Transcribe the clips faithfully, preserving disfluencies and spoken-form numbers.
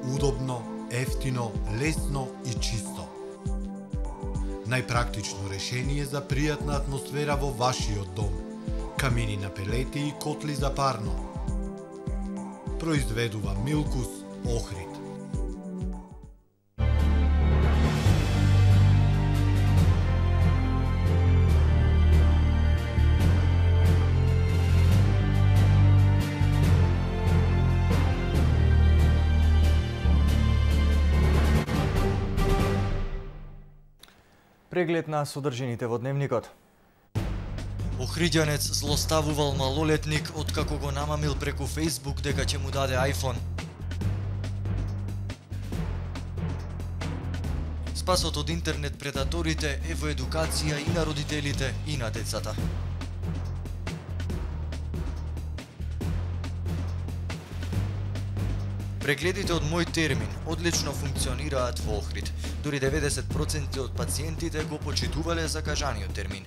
удобно, ефтино, лесно и чисто. Најпрактично решение за пријатна атмосфера во вашиот дом. Камини на пелети и котли за парно. Произведува Милкус Охрид. Преглед на содржините во дневникот. Охриѓанец злоставувал малолетник откако го намамил преку Facebook дека ќе му даде iPhone. Спасот од интернет предаторите е во едукација и на родителите и на децата. Прегледите од Мој термин одлично функционираат во Охрид. Дури деветдесет проценти од пациентите го почитувале закажаниот термин.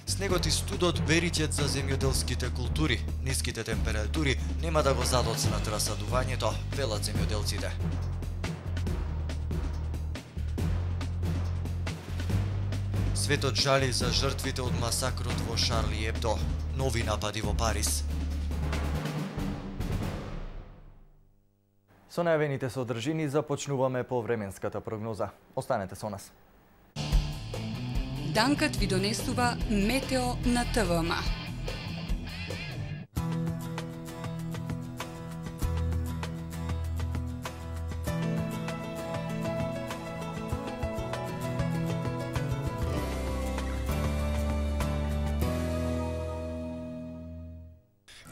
Снегот и студот бериќет за земјоделските култури. Ниските температури нема да го задоцнат расадувањето, велат земјоделците. Светот жали за жртвите од масакрот во Шарли Ебдо. Нови напади во Париз. Со најавените содржини започнуваме по временската прогноза. Останете со нас. Данкат ви донесува Метео на ТВМ.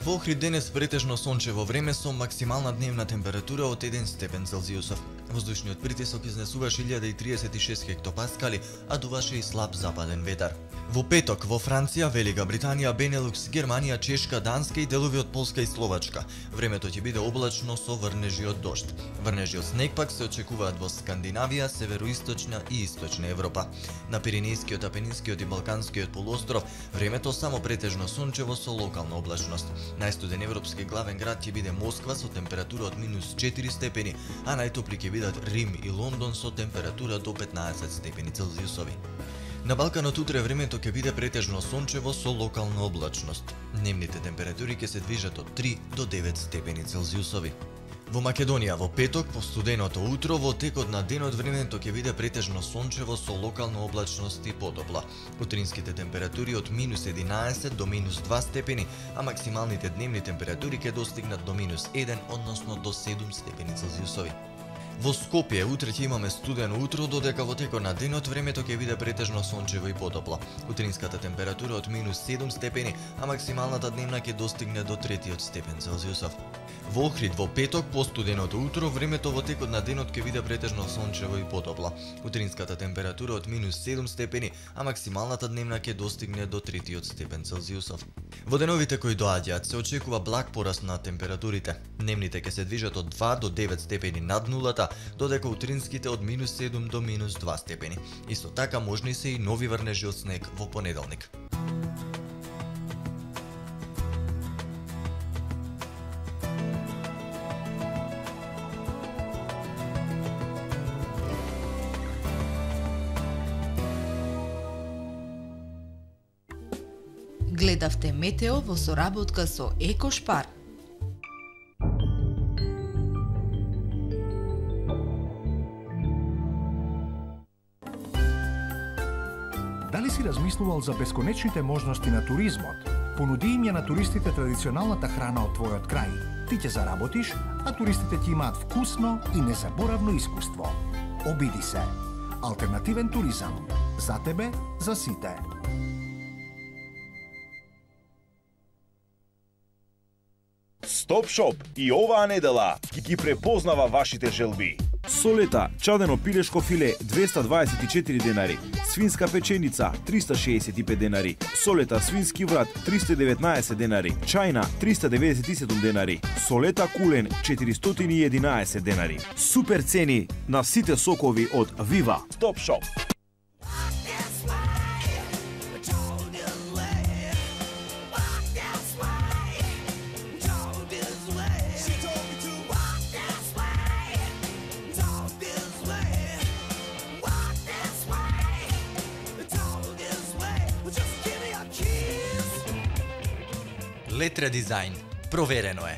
Во Охрид денес претежно сончево време со максимална дневна температура од еден степен Целзиусов. Воздушниот притисок изнесуваше илјада и триесет и шест хектопаскали, а дуваше и слаб западен ветар. Во петок во Франција, Велика Британија, Бенелукс, Германија, Чешка, Данска и делови од Полска и Словачка. Времето ќе биде облачно со врнежи од дожд. Врнежи од снег пак се очекуваат во Скандинавија, североисточна и источна Европа. На Пиренејскиот, Апенинскиот и Балканскиот полуостров времето само претежно сончево со локална облачност. Најстуден европски главен град ќе биде Москва со температура од минус четири степени, а најтопли ќе бидат Рим и Лондон со температура до петнаесет степени Целзиусови. На Балканот утре времето ќе биде претежно сончево со локална облачност. Дневните температури ќе се движат од три до девет степени Целзиусови. Во Македонија во петок по студеното утро во текот на денот времето ќе биде претежно сончево со локална облачност и потопла. Утринските температури од минус единаесет до минус два степени, а максималните дневни температури ќе достигнат до минус еден, односно до седум степени Целзиусови. Во Скопје утре ќе имаме студено утро, додека во текот на денот времето ќе биде претежно сончево и потопло. Утринската температура од минус седум степени, а максималната дневна ќе достигне до третиот степен Целзиусов. Во Охрид во петок по студеното утро времето во текот на денот ќе биде претежно сончево и потопло. Утринската температура од минус седум степени, а максималната дневна ќе достигне до третиот степен Целзиусов. Во деновите кои доаѓаат се очекува благ пораст на температурите. Дневните ќе се движат од два до девет степени над нулата, додека утринските од минус седум до минус два степени. Исто така можни се и нови врнежи од снег во понеделник. Гледавте Метео во соработка со Екошпар. Дали си размислувал за бесконечните можности на туризмот? Понуди им ја на туристите традиционалната храна од твојот крај. Ти ќе заработиш, а туристите ќе имаат вкусно и незаборавно искуство. Обиди се. Алтернативен туризам. За тебе, за сите. Стоп Шоп и оваа недела ги препознава вашите желби. Солета, чадено пилешко филе двеста дваесет и четири денари, свинска печеница триста шеесет и пет денари, солета свински врат триста и деветнаесет денари, чајна триста деветдесет и седум денари, солета кулен четиристотини и единаесет денари. Супер цени на сите сокови од Вива. Стоп Шоп. Летра дизајн. Проверено е.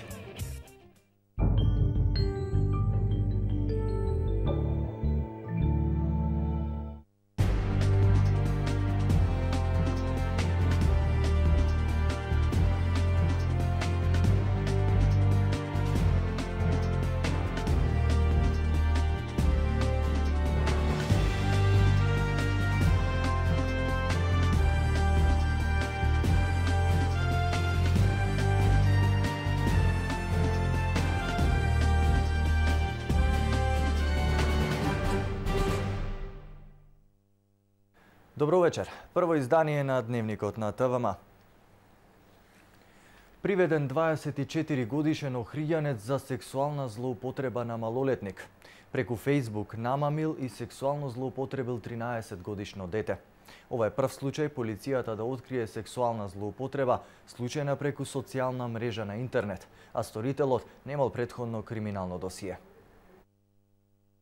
Добро вечер. Прво издание на Дневникот на ТВМ. Приведен дваесет и четири годишен охриѓанец за сексуална злоупотреба на малолетник. Преку Фејсбук намамил и сексуално злоупотребил тринаесет годишно дете. Ова е прв случај полицијата да открие сексуална злоупотреба, случајна преку социјална мрежа на интернет, а сторителот немал претходно криминално досие.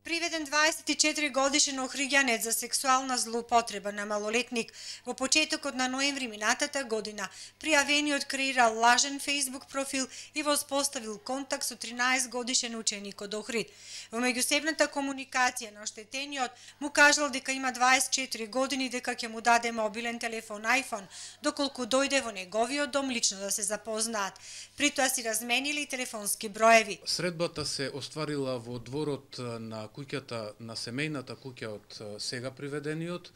Приведен дваесет и четири годишен охриѓанец за сексуална злоупотреба на малолетник во почетокот на ноември минатата година, пријавениот креирал лажен Facebook профил и воспоставил контакт со тринаесет годишен ученик од Охрид. Во меѓусебната комуникација на оштетениот му кажал дека има дваесет и четири години, дека ќе му даде мобилен телефон iPhone, доколку дојде во неговиот дом лично да се запознаат. При тоа си разменили телефонски броеви. Средбата се остварила во дворот на куќата на семејната куќа од сега приведениот,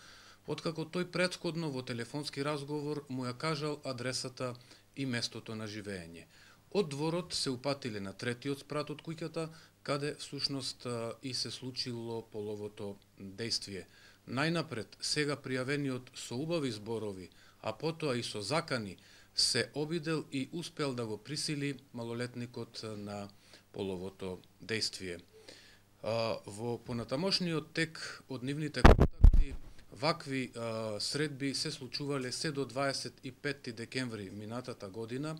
откако тој претходно во телефонски разговор му ја кажал адресата и местото на живење. Од дворот се упатиле на третиот спрат од куќата, каде всушност и се случило половото дејствие. Најнапред, сега пријавениот со убави зборови, а потоа и со закани, се обидел и успел да го присили малолетникот на половото дејствие. Во понатамошниот тек од нивните контакти, вакви а, средби се случувале се до дваесет и петти декември минатата година,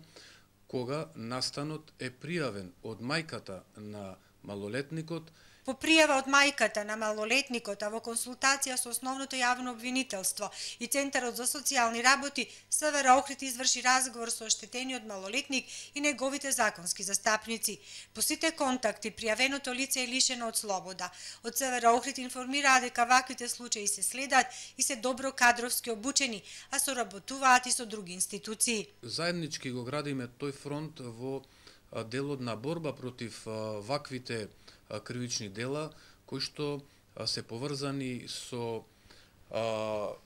кога настанот е пријавен од мајката на малолетникот. По пријава од мајката на малолетникот, а во консултација со основното јавно обвинителство и Центарот за социјални работи, СВР Охрид изврши разговор со оштетениот малолетник и неговите законски застапници. По сите контакти, пријавеното лице е лишено од слобода. Од СВР Охрид информираа дека ваквите случаи се следат и се добро кадровски обучени, а соработуваат и со други институции. Заеднички го градиме тој фронт во делот на борба против ваквите кривични дела, кои што се поврзани со а,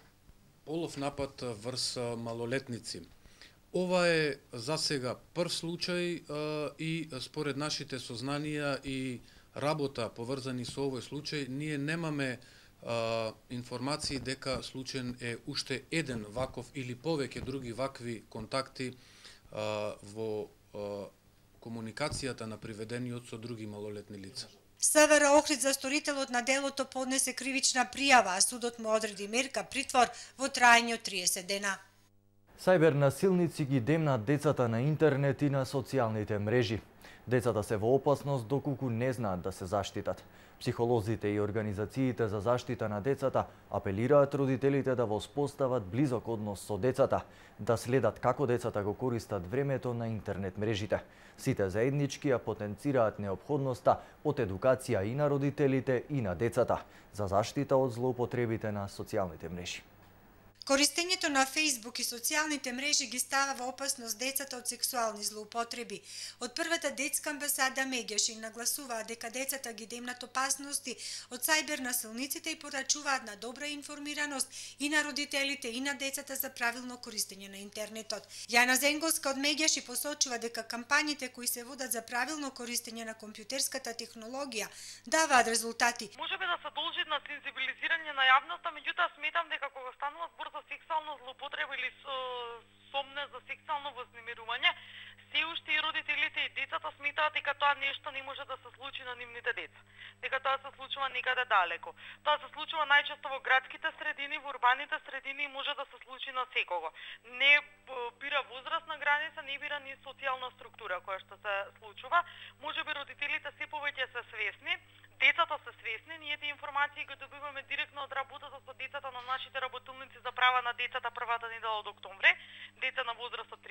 полов напад врз малолетници. Ова е за сега прв случај а, и според нашите сознанија и работа поврзани со овој случај, ние немаме а, информации дека случајен е уште еден ваков или повеќе други вакви контакти а, во а, комуникацијата на приведениот со други малолетни лица. СВР Охрид за сторителот на делото поднесе кривична пријава, а судот му одреди мерка притвор во траење од триесет дена. Сајбер насилници ги демнат децата на интернет и на социјалните мрежи. Децата се во опасност доколку не знаат да се заштитат. Психолозите и организациите за заштита на децата апелираат родителите да воспостават близок однос со децата, да следат како децата го користат времето на интернет мрежите. Сите заеднички ја потенцираат неопходноста од едукација и на родителите и на децата за заштита од злоупотребите на социјалните мрежи. Користењето на Facebook и социјалните мрежи ги става во опасност децата од сексуални злоупотреби. Од првата детска амбасада Мегешин нагласуваат дека децата ги демнат опасности од сајбер насилниците и порачуваат на добра информираност и на родителите и на децата за правилно користење на интернетот. Јана Зенговска од Мегеши посочува дека кампањите кои се водат за правилно користење на компјутерската технологија даваат резултати. Можеби да се должи на сензибилизирање на јавноста, меѓутоа сметам дека кога станува збор за сексуална злоупотреба или сомне за сексуално вознемирување, се уште и родителите и децата сметаат дека тоа нешто не може да се случи на нивните деца, дека тоа се случува некаде далеко. Тоа се случува најчесто во градските средини, во урбаните средини и може да се случи на секого. Не бира возрастна граница, не бира ни социјална структура која што се случува. Можеби родителите се повеќе се свесни, Децата се свесни, ние тие информации ги добиваме директно од работата со децата на нашите работилници за права на децата првата недела од октомври, деца на возраст од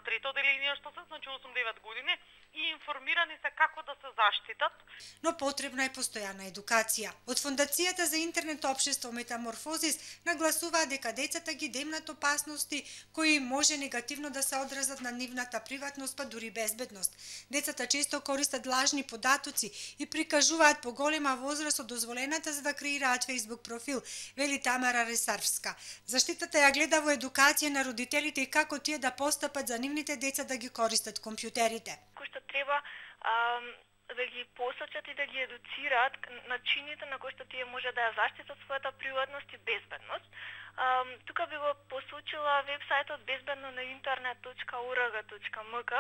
трето оделение што се, значи осум до девет години, и информирани се како да се заштитат. Но потребна е постојана едукација. Од Фондацијата за интернет општество Метаморфозис нагласуваат дека децата ги демнат опасности кои може негативно да се одразат на нивната приватност, па дури безбедност. Децата често користат лажни податоци и прикажуваат поголема возраст од дозволената за да креираат Facebook профил, вели Тамара Ресарвска. Заштитата ја гледа во едукација на родителите и како тие да постапат за нивните деца да ги користат компјутерите. Кој што треба а, да ги посочат и да ги едуцираат начините на кои што тие може да ја заштитат својата приватност и безбедност. Um, тука би го посочила вебсајтот безбедно на интернет точка о р г точка м к,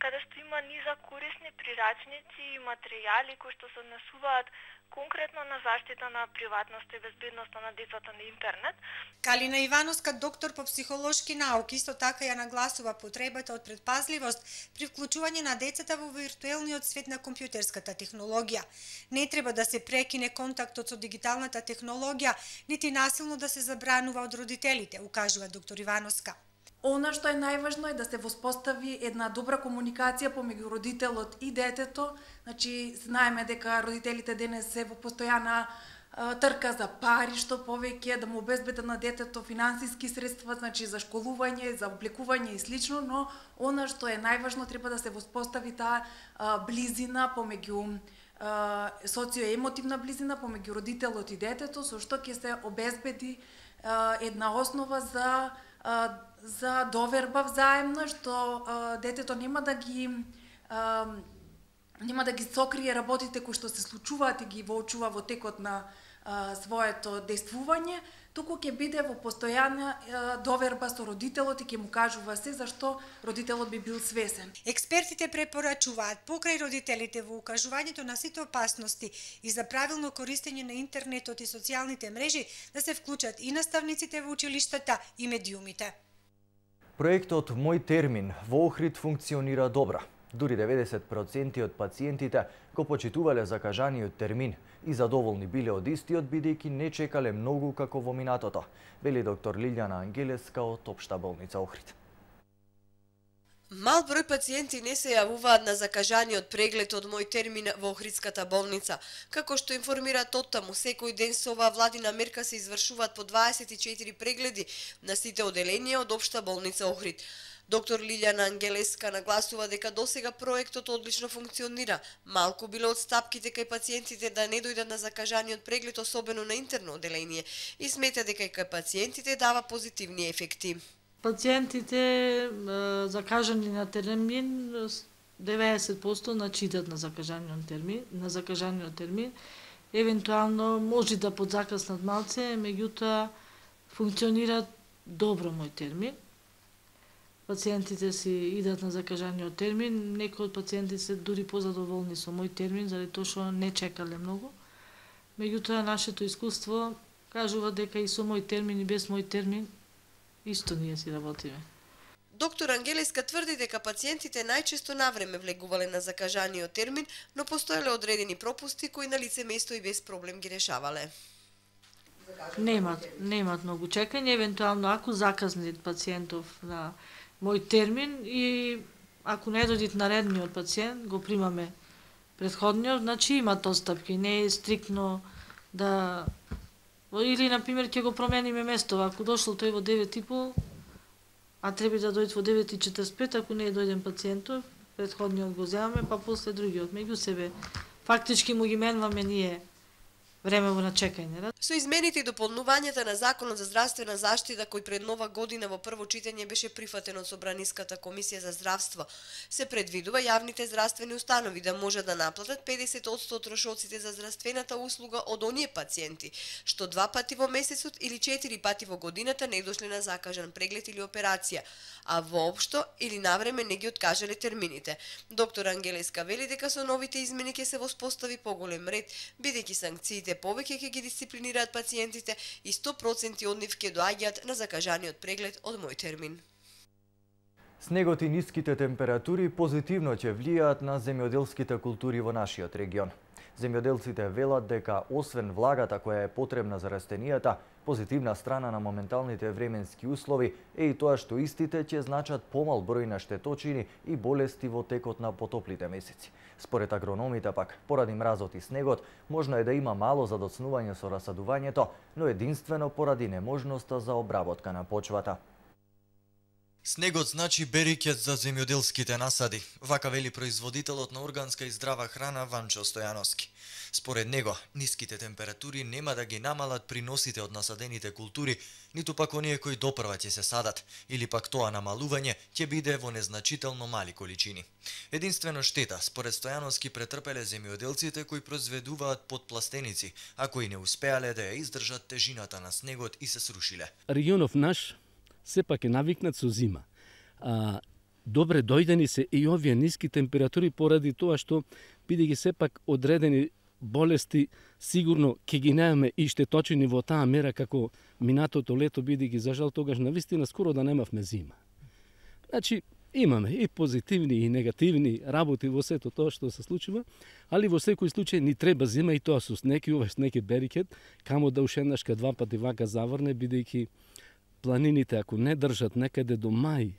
каде што има низа корисни прирачници и материјали кои што се однесуваат конкретно на заштита на приватноста и безбедноста на децата на интернет. Калина Ивановска, доктор по психолошки науки, исто така ја нагласува потребата од предпазливост при вклучување на децата во виртуелниот свет на компјутерската технологија. Не треба да се прекине контактот со дигиталната технологија, нити насилно да се забранува од родителите, укажува доктор Ивановска. Она што е најважно е да се воспостави една добра комуникација помеѓу родителот и детето. Значи, знаеме дека родителите денес се во постојана а, трка за пари, што повеќе да му обезбедат на детето финансиски средства, значи за школување, за облекување и слично, но она што е најважно треба да се воспостави таа а, близина помеѓу а, социоемотивна близина помеѓу родителот и детето, со што ќе се обезбеди а, една основа за а, за доверба взаемна, што а, детето нема да ги а, нема да ги сокрие работите кои што се случуваат и ги воочува во текот на а, своето действување, туку ќе биде во постојана а, доверба со родителот и ќе му кажува се зашто родителот би бил свесен. Експертите препорачуваат покрај родителите во укажувањето на сите опасности и за правилно користење на интернетот и социјалните мрежи да се вклучат и наставниците во училиштата и медиумите. Проектот Мој термин во Охрид функционира добро. Дури деветдесет проценти од пациентите го почитувале закажаниот термин и задоволни биле од истиот бидејќи не чекале многу како во минатото, вели доктор Лилјана Ангелеска од Општа болница Охрид. Мал број пациенти не се јавуваат на закажаниот преглед од Мој термин во Охридската болница. Како што информираат оттаму, секој ден со оваа владина мерка се извршуваат по дваесет и четири прегледи на сите оделенија од Општа болница Охрид. Доктор Лилјана Ангелеска нагласува дека досега проектот одлично функционира. Малку биле отстапките кај пациентите да не дојдат на закажаниот преглед, особено на интерно оделение, и смета дека и кај пациентите дава позитивни ефекти. Пациентите закажани на термин деветдесет проценти начитат на закажаниот термин, на закажаниот термин. Евентуално може да подзакаснат малце, меѓутоа функционира добро Мој термин. Пациентите си идат на закажаниот термин, некои од пациентите се дури позадоволни со Мој термин, заради тоа што не чекале многу. Меѓутоа нашето искуство кажува дека и со Мој термин и без Мој термин исто ние си работиме. Доктор Ангелеска тврди дека пациентите најчесто навреме влегувале на закажаниот термин, но постоеле одредени пропусти кои на лице место и без проблем ги решавале. Немат, немат многу чекање, евентуално ако заказнат пациентов на Мој термин и ако не дојдат наредниот пациент, го примаме претходниот, значи имат отстапки, не е стриктно да или на пример ќе го промениме место, ако дошло тој во девет и пол, а треба да дојде во девет и четресет и пет, ако не е дојден пациентов, претходниот го земаме, па после другиот. Меѓу себе фактички му ги менваме ние време на чекање. Со измените и дополнувањата на Законот за здравствена заштита, кој пред нова година во прво читање беше прифатен од Собраниската комисија за здравство, се предвидува јавните здравствени установи да може да наплатат педесет одсто од трошоците за здравствената услуга од оние пациенти што два пати во месецот или четири пати во годината не дошле на закажан преглед или операција, а воопшто или навреме не ги откажале термините. Доктор Ангелеска вели дека со новите измени ќе се воспостави поголем ред, бидејќи санкциите повеќе ќе ги дисциплинираат пациентите и сто проценти од нив ќе доаѓаат на закажаниот преглед од Мој термин. Снегот и ниските температури позитивно ќе влијаат на земјоделските култури во нашиот регион. Земјоделците велат дека освен влагата која е потребна за растенијата, позитивна страна на моменталните временски услови е и тоа што истите ќе значат помал број на штеточини и болести во текот на потоплите месеци. Според агрономите пак, поради мразот и снегот, можно е да има мало задоцнување со расадувањето, но единствено поради неможноста за обработка на почвата. Снегот значи берикет за земјоделските насади, вака вели производителот на органска и здрава храна Ванчо Стојановски. Според него, ниските температури нема да ги намалат приносите од насадените култури, ниту пак оние кои допрва ќе се садат, или пак тоа намалување ќе биде во незначително мали количини. Единствено штета, според Стојановски, претрпеле земјоделците кои произведуваат подпластеници, а кои не успеале да ја издржат тежината на снегот и се срушиле. Регионов наш сепак е навикнат со зима. А, добре дојдени се и овие ниски температури поради тоа што бидејќи сепак одредени болести сигурно ќе ги немаме и штеточини во таа мера како минатото лето, бидејќи за жал тогаш навистина скоро да немавме зима. Значи имаме и позитивни и негативни работи во сето тоа што се случува, али во секој случај ни треба зима и тоа со снег и овој снег е берикет, камо да ушеднашка два пати вака заврне, бидејќи планините ако не држат некаде до мај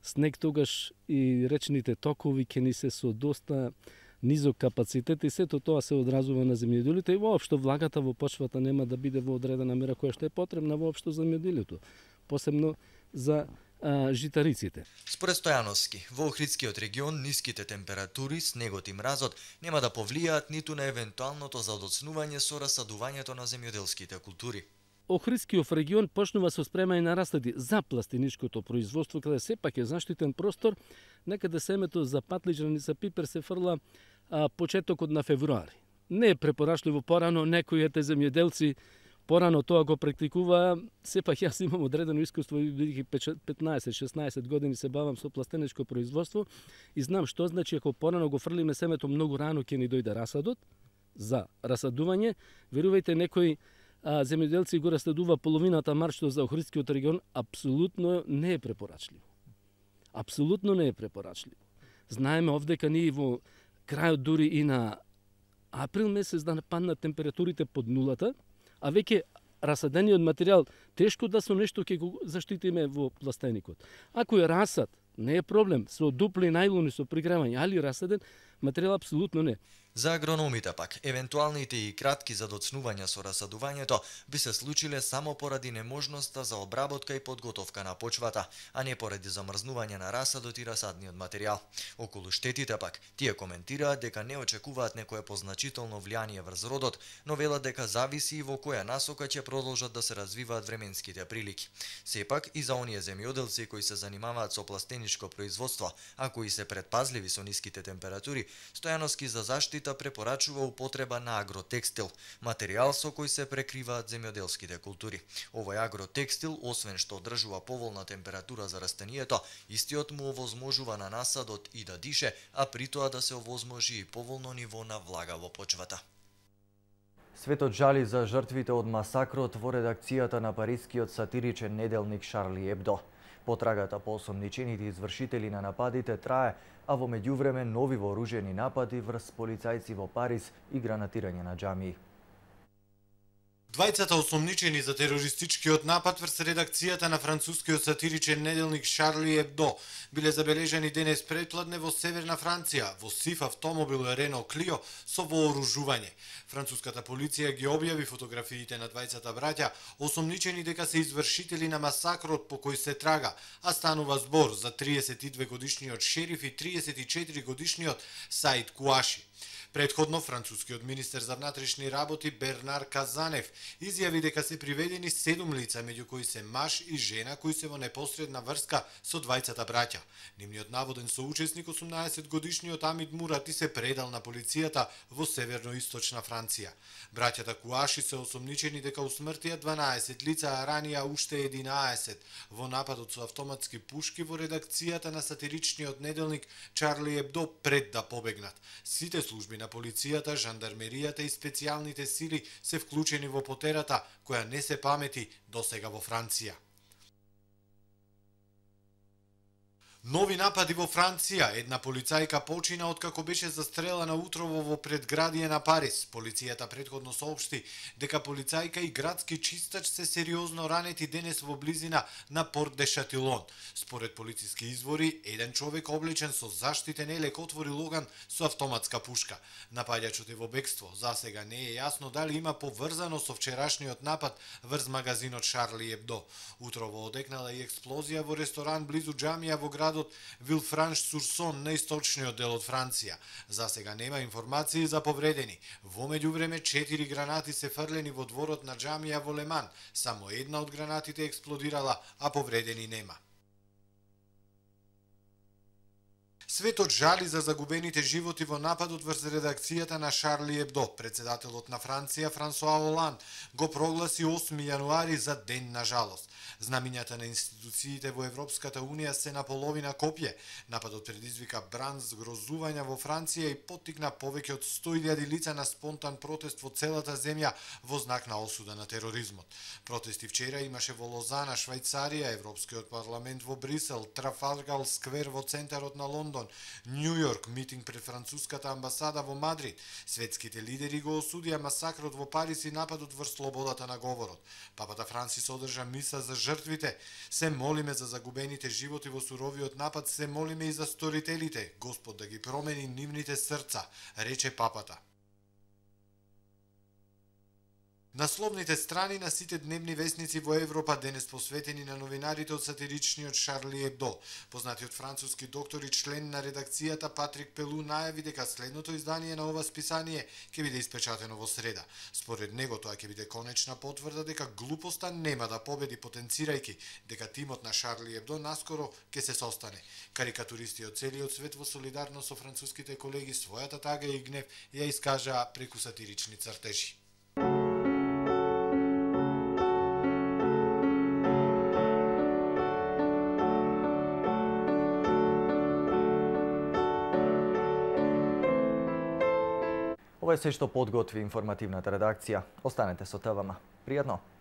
снег, тогаш и речните токови ќе ни се со доста низок капацитет и сето тоа се одразува на земјоделите и воопшто влагата во почвата нема да биде во одредена мера која што е потребна воопшто за земјоделието, посебно за а, житариците. Според Стојановски, во Охридскиот регион ниските температури, снегот и мразот нема да повлијаат ниту на евентуалното задоцнување со расадувањето на земјоделските култури. Охридскиот регион почнува со спремање на расади за пластиничкото производство, каде сепак е заштитен простор, некаде семето за патлиџан и за пипер се фрла а, почетокот на февруари. Не е препорачливо порано, некои ете земјоделци порано тоа го практикуваа, сепак јас имам одредено искуство, бидејќи петнаесет-шеснаесет години се бавам со пластеничко производство и знам што значи ако порано го фрлиме семето многу рано ќе ни дојде расадот за расадување. Верувајте, некои а, земјоделци го расадува половината маршто за Охридскиот регион, апсолутно не е препорачливо. Апсолутно не е препорачливо. Знаеме овдека ние во крајот дури и на април месец да паднат температурите под нулата, а веќе расадениот материјал тешко да со нешто ќе го заштитиме во пластеникот. Ако е расад, не е проблем, со дупли најлони со пригревање, али расаден материјал апсолутно не. За агрономите пак, евентуалните и кратки задоцнувања со расадувањето би се случиле само поради неможноста за обработка и подготовка на почвата, а не поради замрзнување на расадот и расадниот материјал. Околу штетите пак, тие коментираат дека не очекуваат некое позначително влијание врз родот, но велат дека зависи и во која насока ќе продолжат да се развиваат временските прилики. Сепак и за оние земјоделци кои се занимаваат со пластеничко производство, а кои се предпазливи со ниските температури, Стојановски за заштита препорачува употреба на агротекстил, материјал со кој се прекриваат земјоделските култури. Овој агротекстил, освен што одржува поволна температура за растението, истиот му овозможува на насадот и да дише, а при тоа да се овозможи и поволно ниво на влага во почвата. Светот жали за жртвите од масакрот во редакцијата на парискиот сатиричен неделник Шарли Ебдо. Потрагата по осомничените извршители на нападите трае, а во меѓувреме нови вооружени напади врз полицајци во Париз и гранатирање на џамии. Двајцата осомничени за терористичкиот напад врз редакцијата на францускиот сатиричен неделник Шарли Ебдо биле забележани денес предпладне во северна Франција, во сив автомобил Рено Клио со вооружување. Француската полиција ги објави фотографиите на двајцата браќа, осомничени дека се извршители на масакрот по кој се трага, а станува збор за триесет и две годишниот шериф и триесет и четири годишниот Саид Куаши. Предходно, францускиот министер за внатрешни работи Бернар Казанев изјави дека се приведени седум лица, меѓу кои се маж и жена кои се во непосредна врска со двајцата браќа. Нивниот наводен соучесник, осумнаесет годишниот Амид Мурати, се предал на полицијата во северно-источна Франција. Браќата Куаши се осомничени дека усмртија дванаесет лица, а ранија уште единаесет во нападот со автоматски пушки во редакцијата на сатиричниот неделник Шарли Ебдо пред да побегнат. Сите служби на полицијата, жандармеријата и специјалните сили се вклучени во потерата која не се памети досега во Франција. Нови напади во Франција. Една полицајка почина откако беше застрелана утрово во предградие на Париз. Полицијата претходно соопшти дека полицајка и градски чистач се сериозно ранети денес во близина на Порт де Шатилон. Според полициски извори, еден човек облечен со заштитен елек отвори логан со автоматска пушка. Напаѓачот е во бегство. Засега не е јасно дали има поврзано со вчерашниот напад врз магазинот Шарли Ебдо. Утрово одекнала и експлозија во ресторан близу џамија во градот Вилфранш-Сурсон на источниот дел од Франција. Засега нема информации за повредени. Во меѓувреме четири гранати се фрлени во дворот на џамија во Леман. Само една од гранатите експлодирала, а повредени нема. Светот жали за загубените животи во нападот врз редакцијата на Шарли Ебдо. Председателот на Франција Франсуа Оланд го прогласи осми јануари за ден на жалост. Знамињата на институциите во Европската Унија се на половина копје. Нападот предизвика бран згрозувања во Франција и поттикна повеќе од сто илјади лица на спонтан протест во целата земја во знак на осуда на тероризмот. Протести вчера имаше во Лозана, Швајцарија, Европскиот парламент во Брисел, Трафалгар сквер во центарот на Лондон, Њу Јорк, митинг пред француската амбасада во Мадрид. Светските лидери го осудија масакрот во Париз и нападот врз слободата на говорот. Папата Франсис одржа миса за жртвите. Се молиме за загубените животи во суровиот напад, се молиме и за сторителите. Господ да ги промени нивните срца, рече папата. Насловните страни на сите дневни весници во Европа денес посветени на новинарите од сатиричниот Шарли Ебдо. Познатиот француски доктор и член на редакцијата Патрик Пелу најави дека следното издание на ова списание ќе биде испечатено во среда. Според него тоа ќе биде конечна потврда дека глупоста нема да победи, потенцирајќи дека тимот на Шарли Ебдо наскоро ќе се состане. Карикатуристи од целиот свет во солидарност со француските колеги својата тага и гнев ја искажаа преку сатирични цртежи. Ова е се што подготви информативната редакција. Останете со ТВМ. Пријатно!